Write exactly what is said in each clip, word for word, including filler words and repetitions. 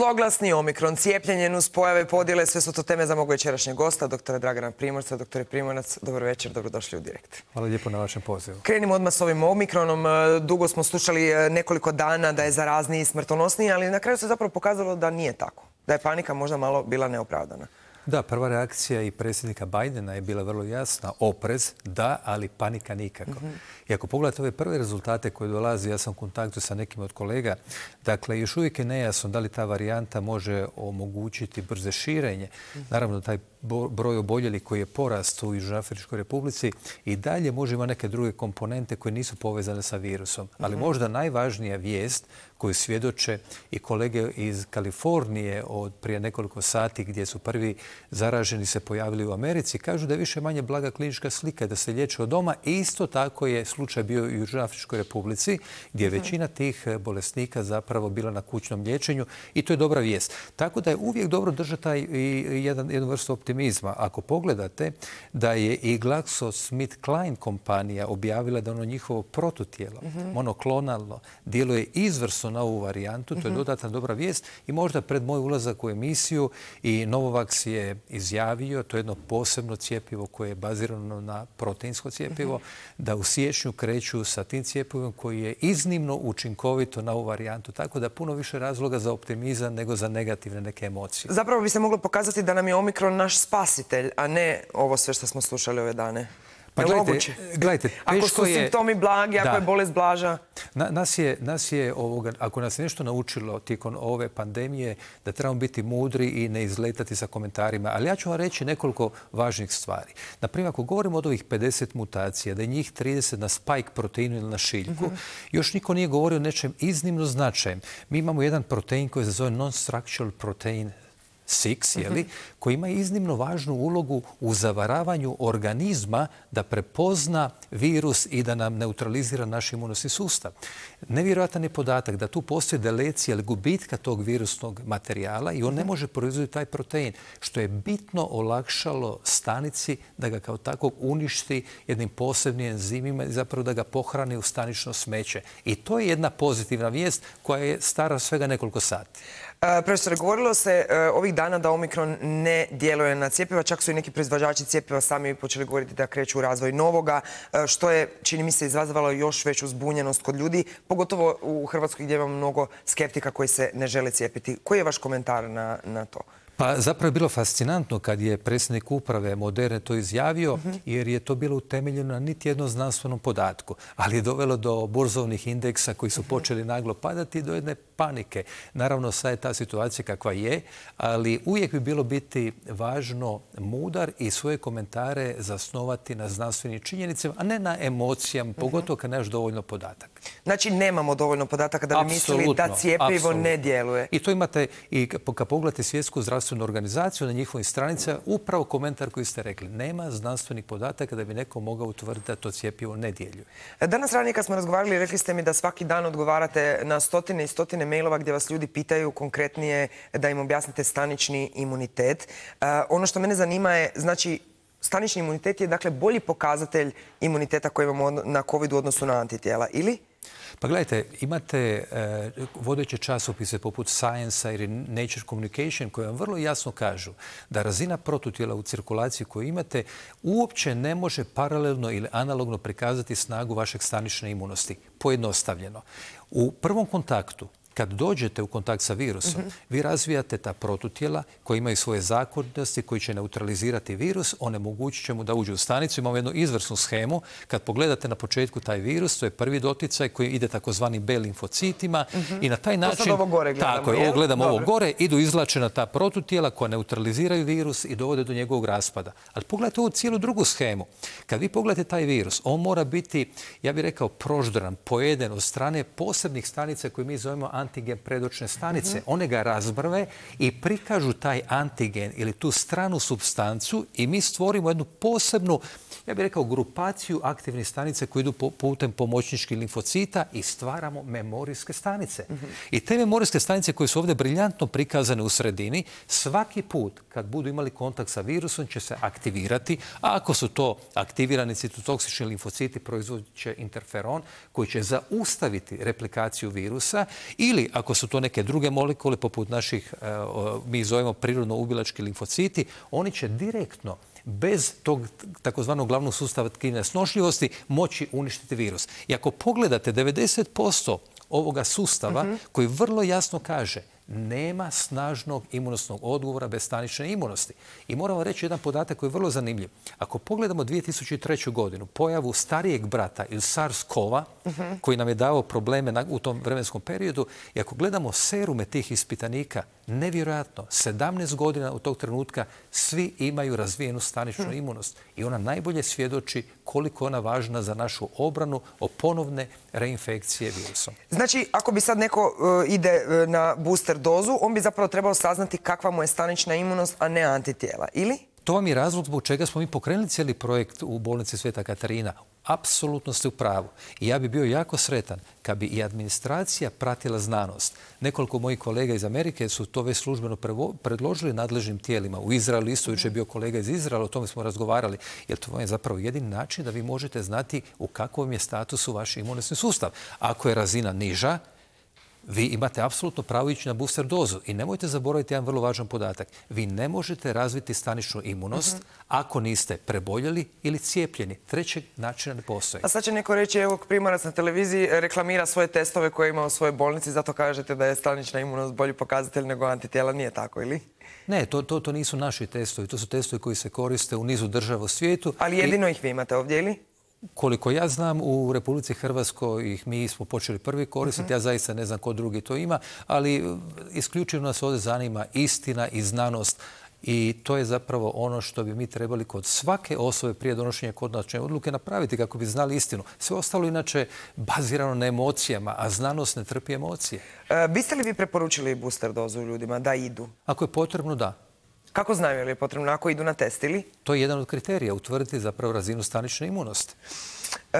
Zloglasni omikron, cijepljenje, nuspojave, podjele, sve su to teme za mog večerašnjeg gosta, doktora Dragana Primorca. Doktore Primorac, dobro večer, dobrodošli u Direkt. Hvala lijepo na vašem pozivu. Krenimo odmah s ovim omikronom. Dugo smo slušali nekoliko dana da je zarazniji i smrtonosniji, ali na kraju se zapravo pokazalo da nije tako. Da je panika možda malo bila neopravdana. Da, prva reakcija i predsjednika Bidena je bila vrlo jasna. Oprez, da, ali panika nikako. Mm-hmm. I ako pogledate ove prve rezultate koje dolaze, ja sam u kontaktu sa nekim od kolega, dakle, još uvijek je nejasno da li ta varijanta može omogućiti brze širenje. Mm-hmm. Naravno, taj broj oboljelih koji je porast u Južnoafričkoj Republici i dalje može ima neke druge komponente koje nisu povezane sa virusom. Ali mm-hmm. možda najvažnija vijest koju svjedoče i kolege iz Kalifornije od prije nekoliko sati gdje su prvi zaraženi se pojavili u Americi, kažu da je više manje blaga klinička slika, da se liječe od doma. I isto tako je slučaj bio i u Južnoafričkoj Republici gdje je većina tih bolesnika zapravo bila na kućnom liječenju i to je dobra vijest. Tako da je uvijek dobro držati taj jedan, jednu vrstu optimizma. Ako pogledate da je i GlaxoSmithKline kompanija objavila da ono njihovo protutijelo, mm-hmm. monoklonalno, djeluje izvrsno na ovu varijantu, to je dodatna dobra vijest i možda pred moj ulazak u emisiju i Novavax je izjavio, to je jedno posebno cjepivo koje je bazirano na proteinsko cjepivo, mm-hmm. da u siječnju kreću sa tim cjepivom koji je iznimno učinkovito na ovu varijantu, tako da puno više razloga za optimizam nego za negativne neke emocije. Zapravo bi se moglo pokazati da nam je omikron naš spasitelj, a ne ovo sve što smo slušali ove dane. Pa gledajte, gledajte, ako su je, simptomi blagi, ako da, je bolest blaža. Na, nas je, nas je ovoga, ako nas je nešto naučilo tijekom ove pandemije, da trebamo biti mudri i ne izletati sa komentarima. Ali ja ću vam reći nekoliko važnih stvari. Naprimjer, ako govorimo od ovih pedeset mutacija, da je njih trideset na spike proteinu ili na šiljku, mm-hmm. još niko nije govorio o nečem iznimno značajem. Mi imamo jedan protein koji se zove non-structural protein šest, jeli, koji ima iznimno važnu ulogu u zavaravanju organizma da prepozna virus i da nam neutralizira naš imunosni sustav. Nevjerojatan je podatak da tu postoji delecija ili gubitka tog virusnog materijala i on ne može proizvoditi taj protein, što je bitno olakšalo stanici da ga kao takvog uništi jednim posebnim enzimima i zapravo da ga pohrani u stanično smeće. I to je jedna pozitivna vijest koja je stara svega nekoliko sati. Uh, profesore, govorilo se uh, ovih dana da omikron ne djeluje na cjepiva, čak su i neki proizvođači cjepiva sami počeli govoriti da kreću u razvoj novoga, uh, što je, čini mi se, izazvalo još veću zbunjenost kod ljudi, pogotovo u Hrvatskoj gdje imamo mnogo skeptika koji se ne žele cijepiti. Koji je vaš komentar na, na to? Pa zapravo je bilo fascinantno kad je predsjednik uprave Moderne to izjavio, mm-hmm. jer je to bilo utemeljeno na niti jednom znanstvenom podatku, ali je dovelo do burzovnih indeksa koji su počeli naglo padati i do jedne panike. Naravno, sad je ta situacija kakva je, ali uvijek bi bilo biti važno mudar i svoje komentare zasnovati na znanstvenim činjenicama, a ne na emocijama, mm-hmm. pogotovo kad nemaš dovoljno podataka. Znači, nemamo dovoljno podataka da bi mislili da cijepivo ne djeluje. I to imate, i kad pogledate Svjetsku zdravstvenu organizaciju na njihovim stranicama, upravo komentar koji ste rekli. Nema znanstvenih podataka da bi neko mogao utvrditi da to cijepivo ne djeluje. Danas ranije kad smo razgovarali, rekli ste mi da svaki dan odgovarate na stotine i stotine mailova gdje vas ljudi pitaju konkretnije da im objasnite stanični imunitet. Uh, ono što mene zanima je, znači, stanični imunitet je dakle bolji pokazatelj imuniteta koji imamo na COVID u odnosu na antitijela, ili? Pa gledajte, imate e, vodeće časopise poput Science ili Nature Communication koje vam vrlo jasno kažu da razina protutijela u cirkulaciji koju imate uopće ne može paralelno ili analogno prikazati snagu vašeg stanične imunosti. Pojednostavljeno. U prvom kontaktu, kad dođete u kontakt sa virusom, mm-hmm. vi razvijate ta protutijela koja imaju svoje zakonitosti, koji će neutralizirati virus, onemogućit će mu da uđe u stanicu. Imamo jednu izvrsnu schemu. Kad pogledate na početku taj virus, to je prvi doticaj koji ide takozvani B limfocitima mm-hmm. i na taj način... To sad ovo gore gledamo. Tako je, ovo gledamo ovo gore, idu izlačena ta protutijela koja neutraliziraju virus i dovode do njegovog raspada. Ali pogledajte ovu cijelu drugu schemu. Kad vi pogledate taj virus, on mora biti, ja bih rekao, proždran, pojeden od strane posebnih stanica koje mi zovemo antigen predočne stanice. Mm-hmm. One ga razbrve i prikažu taj antigen ili tu stranu supstancu i mi stvorimo jednu posebnu, ja bih rekao, grupaciju aktivnih stanica koje idu putem pomoćničkih limfocita i stvaramo memorijske stanice. Mm-hmm. I te memorijske stanice koje su ovdje briljantno prikazane u sredini, svaki put kad budu imali kontakt sa virusom će se aktivirati, a ako su to aktivirani citotoksični limfociti proizvodit će interferon koji će zaustaviti replikaciju virusa i Ili ako su to neke druge molekule, poput naših, mi ih zovemo prirodno ubilački limfociti, oni će direktno, bez tog takozvanog glavnog sustava tkivne snošljivosti, moći uništiti virus. I ako pogledate devedeset posto ovoga sustava, mm-hmm. koji vrlo jasno kaže nema snažnog imunosnog odgovora bez stanične imunosti. I moramo reći jedan podatak koji je vrlo zanimljiv. Ako pogledamo dvije tisuće treću. godinu, pojavu starijeg brata ili SARS-kova, mm-hmm. koji nam je dao probleme u tom vremenskom periodu, i ako gledamo serume tih ispitanika, nevjerojatno, sedamnaest godina od tog trenutka svi imaju razvijenu staničnu mm. imunost. I ona najbolje svjedoči koliko je ona važna za našu obranu o ponovne reinfekcije virusom. Znači, ako bi sad neko uh, ide uh, na booster dozu, on bi zapravo trebao saznati kakva mu je stanična imunost, a ne antitijela, ili? To vam je razlog zbog čega smo mi pokrenuli cijeli projekt u bolnici Sveta Katarina. Apsolutno ste u pravu. I ja bi bio jako sretan kad bi i administracija pratila znanost. Nekoliko mojih kolega iz Amerike su to već službeno predložili nadležnim tijelima. U Izraelu isto jučer je bio kolega iz Izraela, o tome smo razgovarali. Jer to je zapravo jedini način da vi možete znati u kakvom je statusu vaš imunosni sustav. Ako je razina niža, vi imate apsolutno pravo ići na booster dozu. I nemojte zaboraviti jedan vrlo važan podatak. Vi ne možete razviti staničnu imunost uh-huh. ako niste preboljeli ili cijepljeni. Trećeg načina ne postoji. A sad će neko reći, evo, Primorac na televiziji reklamira svoje testove koje ima u svojoj bolnici, zato kažete da je stanična imunost bolji pokazatelj nego antitijela. Nije tako, ili? Ne, to, to, to nisu naši testovi. To su testovi koji se koriste u nizu država u svijetu. Ali jedino I... ih vi imate ovdje, ili? Koliko ja znam, u Republici Hrvatskoj ih mi smo počeli prvi koristiti. Uh-huh. Ja zaista ne znam ko drugi to ima, ali isključivo nas ovdje zanima istina i znanost. I to je zapravo ono što bi mi trebali kod svake osobe prije donošenja konačne odluke napraviti kako bi znali istinu. Sve ostalo inače bazirano na emocijama, a znanost ne trpi emocije. E, biste li vi preporučili booster dozu ljudima da idu? Ako je potrebno, da. Kako znaju je li je potrebno ako idu na test ili? To je jedan od kriterija, utvrditi zapravo razinu stanične imunosti. E,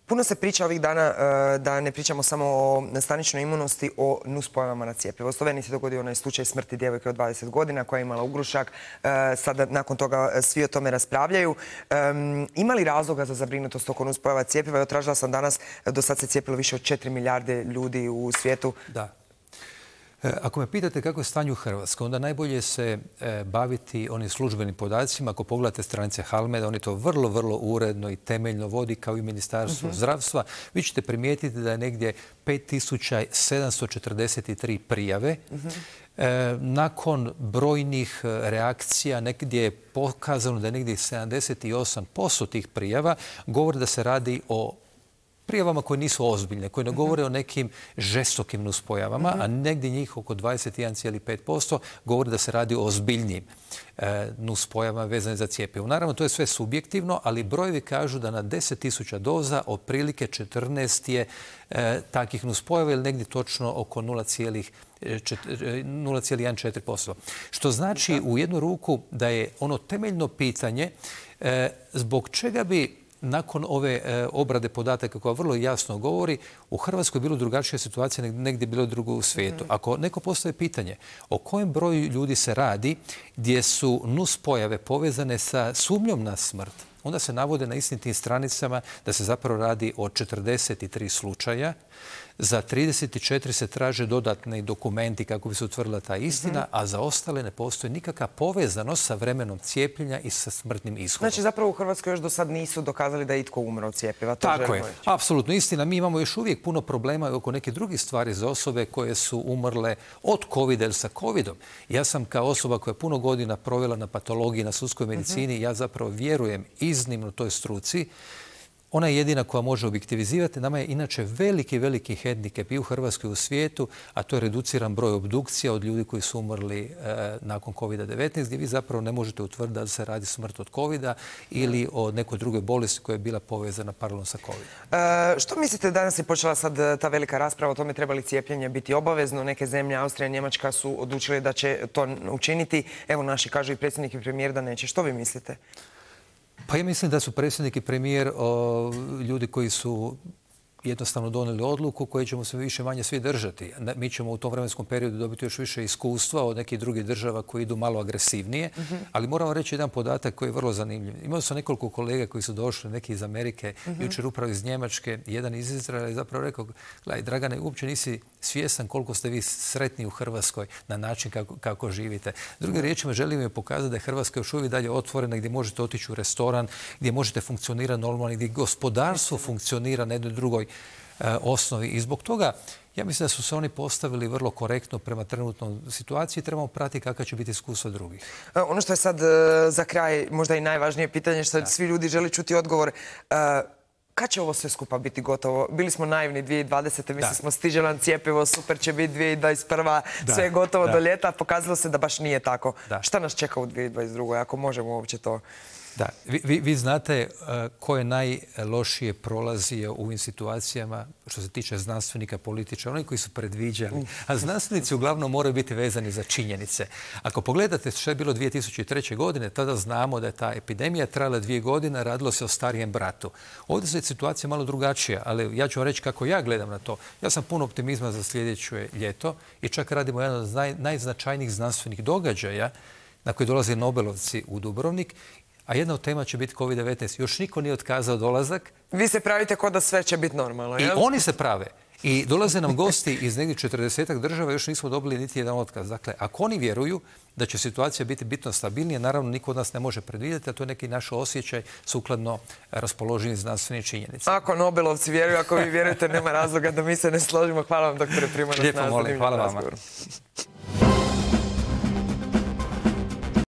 puno se priča ovih dana e, da ne pričamo samo o staničnoj imunosti, o nuspojavama na cjepivo. U Sloveniji se dogodio onaj slučaj smrti djevojke od dvadeset godina koja je imala ugrušak. E, sada nakon toga svi o tome raspravljaju. E, ima li razloga za zabrinutost oko nuspojava cjepiva? Ja tražila sam danas, do sad se cijepilo više od četiri milijarde ljudi u svijetu. Da. Ako me pitate kako je stanje u Hrvatskoj, onda najbolje se baviti onim službenim podacima. Ako pogledate stranice Halmeda, oni to vrlo, vrlo uredno i temeljno vodi kao i Ministarstvo uh-huh. zdravstva. Vi ćete primijetiti da je negdje pet tisuća sedamsto četrdeset tri prijave. Uh-huh. E, nakon brojnih reakcija, negdje je pokazano da je negdje sedamdeset osam posto tih prijava govori da se radi o prijavama koje nisu ozbiljne, koje ne govore o nekim žestokim nuspojavama, uh-huh. a negdje njih oko dvadeset jedan zarez pet posto govori da se radi o ozbiljnijim e, nuspojavama vezane za cjepivo. Naravno, to je sve subjektivno, ali brojevi kažu da na deset tisuća doza otprilike četrnaest je e, takih nuspojava ili negdje točno oko nula zarez jedan četiri posto. Što znači u jednu ruku da je ono temeljno pitanje e, zbog čega bi nakon ove e, obrade podataka koja vrlo jasno govori, u Hrvatskoj je bilo drugačija situacija nego negdje bilo drugo u svijetu. Mm. Ako neko postoje pitanje o kojem broju ljudi se radi gdje su nuspojave povezane sa sumnjom na smrt, onda se navode na istim tim stranicama da se zapravo radi o četrdeset tri slučaja. Za trideset četiri se traže dodatni dokumenti kako bi se utvrdila ta istina, mm-hmm. a za ostale ne postoji nikakva povezanost sa vremenom cijepljenja i sa smrtnim ishodom. Znači zapravo u Hrvatskoj još do sad nisu dokazali da je itko umro od cjepiva. To Tako je. Reći. Apsolutno istina. Mi imamo još uvijek puno problema oko neke drugih stvari za osobe koje su umrle od covida ili sa covidom. Ja sam kao osoba koja je puno godina provela na patologiji, na sudskoj medicini, mm-hmm. ja zapravo vjerujem iznimno toj struci. Ona je jedina koja može objektivizirati. Nama je inače veliki, veliki hendikep i u Hrvatskoj i u svijetu, a to je reduciran broj obdukcija od ljudi koji su umrli e, nakon covida devetnaest, gdje vi zapravo ne možete utvrditi da se radi smrt od covida ili o nekoj drugoj bolesti koja je bila povezana paralelno sa covidom. E, što mislite, danas je počela sad ta velika rasprava o tome treba li cijepljenje biti obavezno? Neke zemlje, Austrija i Njemačka, su odlučile da će to učiniti. Evo, naši kažu i predsjednik i premijer da neće. Što vi mislite? Pa ja mislim da su predsjednik i premijer o, ljudi koji su jednostavno donijeli odluku koju ćemo se više manje svi držati. Mi ćemo u tom vremenskom periodu dobiti još više iskustva od nekih drugih država koji idu malo agresivnije, mm-hmm. ali moramo reći jedan podatak koji je vrlo zanimljiv. Imao sam nekoliko kolega koji su došli, neki iz Amerike, mm-hmm. jučer upravo iz Njemačke, jedan iz Izraela, i zapravo rekao, gledaj, Dragane, uopće nisi svjestan koliko ste vi sretni u Hrvatskoj na način kako, kako živite. Drugim riječima, želim je pokazati da je Hrvatska još uvijek dalje otvorena, gdje možete otići u restoran, gdje možete funkcionirati normalno, gdje gospodarstvo funkcionira na jednoj drugoj e, osnovi. I zbog toga, ja mislim da su se oni postavili vrlo korektno prema trenutnoj situaciji i trebamo pratiti kakva će biti iskustva drugih. E, ono što je sad e, za kraj možda i najvažnije pitanje, što da. svi ljudi žele čuti odgovor, e, kad će ovo sve skupa biti gotovo? Bili smo naivni dvije tisuće dvadesete. Mislili smo stiže nam cjepivo, super će biti dvije tisuće dvadeset prva. Da. Sve je gotovo da. do ljeta. Pokazalo se da baš nije tako. Da. Šta nas čeka u dvije tisuće dvadeset drugoj ako možemo uopće to... Da, vi, vi, vi znate uh, ko je najlošije prolazio u ovim situacijama što se tiče znanstvenika, političara, oni koji su predviđali. A znanstvenici uglavnom moraju biti vezani za činjenice. Ako pogledate što je bilo dvije tisuće treće. godine, tada znamo da je ta epidemija trajala dvije godine, radilo se o starijem bratu. Ovdje je situacija malo drugačija, ali ja ću vam reći kako ja gledam na to. Ja sam puno optimizma za sljedeće ljeto i čak radimo jedan od naj, najznačajnijih znanstvenih događaja na koji dolaze Nobelovci u Dubrovnik. A jedna od tema će biti kovid devetnaest. Još niko nije otkazao dolazak. Vi se pravite kao da sve će biti normalno, jel? I oni se prave. I dolaze nam gosti iz negdje četrdesetak država, još nismo dobili niti jedan otkaz. Dakle, ako oni vjeruju da će situacija biti bitno stabilnija, naravno niko od nas ne može predvidjeti, a to je neki naš osjećaj sukladno raspoloženim znanstvenim činjenicama. Ako Nobelovci vjeruju, ako vi vjerujete, nema razloga da mi se ne složimo. Hvala vam, doktore Primorac, na zanimljivom razgovoru.